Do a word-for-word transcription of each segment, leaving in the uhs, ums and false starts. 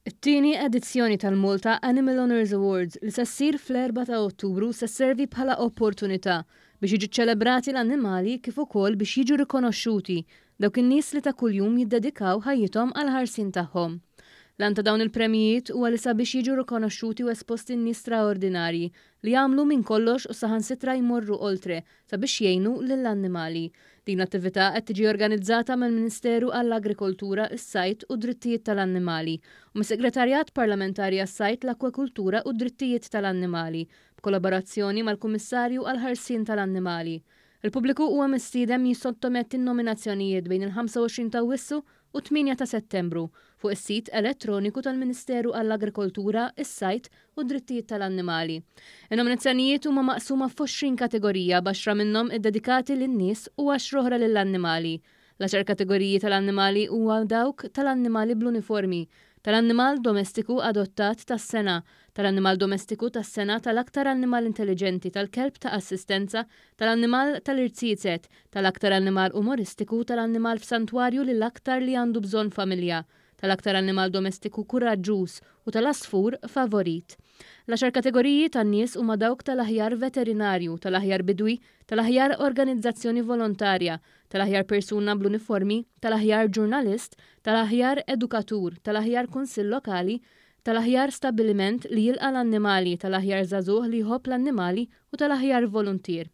It-tieni edizzjoni tal-Malta Animal Owners Awards li se ssir fl-erbgħa ta' Ottubru se sservi bħala opportunità biex jiġu ċelebrati l-annimali kif ukoll biex jiġu rikonoxxuti dawk in-nies li ta' kuljum jiddedikaw ħajjithom għall-ħarsien tagħhom. L-għan ta' dawn il-premjijiet huwa li sabiex jiġu rikonoxxuti u esposti n-nies straordinarji li jagħmlu minn kollox u saħansitra jmorru oltre sabiex jgħinu lill-annimali. Din l-attività qed tiġi organizzata mill-Ministeru għall-Agrikoltura, is-Sajd u d-Drittijiet tal-Annimali u mis-Segretarjat Parlamentari għas-Sajd, l-Akwakultura u d-Drittijiet tal-Annimali b'kollaborazzjoni mal-Kummissarju għall-Ħarsien tal-Annimali. Il-pubbliku huwa mistieden jissottometti n-nominazzjonijiet bejn il-ħamsa u għoxrin ta' Awwissu u tmienja ta' Settembru fuq is-sit elettroniku tal-Ministeru għall-Agrikoltura, is-Sajd u d-Drittijiet tal-Annimali. In-nominazzjonijiet huma maqsuma f'għoxrin kategorija, b'għaxra minnhom iddedikati lin-nies u għaxra oħra lill-annimali. L-għaxar kategoriji tal-annimali huwa dawk tal-annimali bl-uniformi, tal-annimal domestiku adottat tas-sena, tal-annimal domestiku tas-sena, tal-aktar annimal intelligenti, tal-kelb ta' assistenza, tal-annimal tal-irziezet, tal-aktar annimal umoristiku, tal-annimal f'santwarju li l-aktar li għandu bżonn familja, tal-aktar annimal domestiku kuraġġuż u tal-asfur favorit. L-għaxar kategoriji tan-nies huma dawk tal-aħjar veterinarju, tal-aħjar bidwi, tal-aħjar organizzazzjoni volontarja, tal-aħjar persuna bl-uniformi, tal-aħjar ġurnalist, tal-aħjar edukatur, tal-aħjar kunsill lokali, tal-aħjar stabbiliment li jilqa' l-annimali, tal-aħjar żagħżugħ li jħobb l-annimali u tal-aħjar voluntier.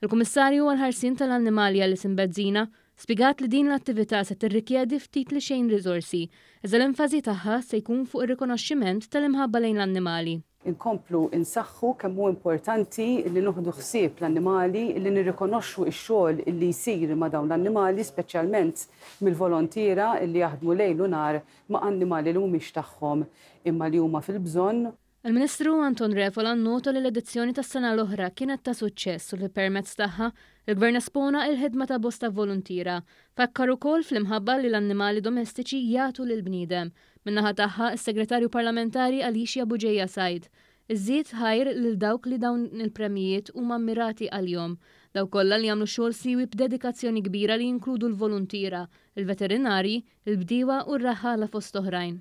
Il-Kummissarju għall-Ħarsien tal-Annimali Alison Bezzina spjegat li din l-attività se tirrikjedi ftit li xejn riżorsi, iżda l-enfasi tagħha se jkun fuq ir-rikonoxximent tal-imħabba lejn l-annimali. Inkomplu insaħħu kemm hu importanti li nieħdu ħsieb l-annimali, li nirrikonoxxu x-xogħol li jsir ma' dawn l-annimali, speċjalment mill-volontiera li jaħdmu lejl u nhar ma' annimali li mhumiex tagħhom imma li huma fil-bżonn. Il-Ministru Anton Refalo nnota li l-edizzjoni tas-sena l-oħra kienet ta' suċċess u li permezz tagħha il-Gvern espona il-ħidma ta' bosta voluntiera. Fakkar ukoll fl-imħabba li l-annimali domestiċi jagħtu lill-bniedem. Min-naħa tagħha, is-Segretarju Parlamentari Alicia Bugeja Said iżżid ħajr lil dawk li dawn il-premjijiet huma mmirati għalihom. Dawk kollha li jagħmlu xogħol siwi b'dedikazzjoni kbira li jinkludu l-voluntiera, il-veterinari, il-bdiewa u r-raħħala fost oħrajn.